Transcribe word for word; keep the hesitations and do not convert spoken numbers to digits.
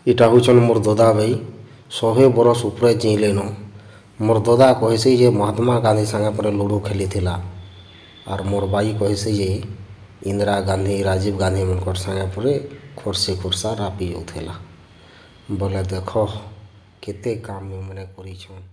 ଇଟା ହଉଛନ୍ ମୋର୍ ଦଦା ଭାଇ ଶହେ ବରଷ୍ ଉପରେ ଜିଇଁଲେନ ମୋର୍ ଦଦା କହେସି ଯେ ମହାତ୍ମା ଗାନ୍ଧୀ ସାଙ୍ଗେ ପରେ ଲୁଡ଼ୁ ଖେଲିଥିଲା ଆର୍ ମୋର୍ ବାଇ କହେସି ଯେ ଇନ୍ଦିରା ଗାନ୍ଧୀ ରାଜୀବ ଗାନ୍ଧୀ ମାନଙ୍କର୍ ସାଙ୍ଗେ ପରେ ଖୁର୍ସି ଖୁର୍ସା ରାପି ଯାଉଥିଲା ବୋଲେ ଦେଖ କେତେ କାମ୍ ଇମାନେ କରିଛନ୍।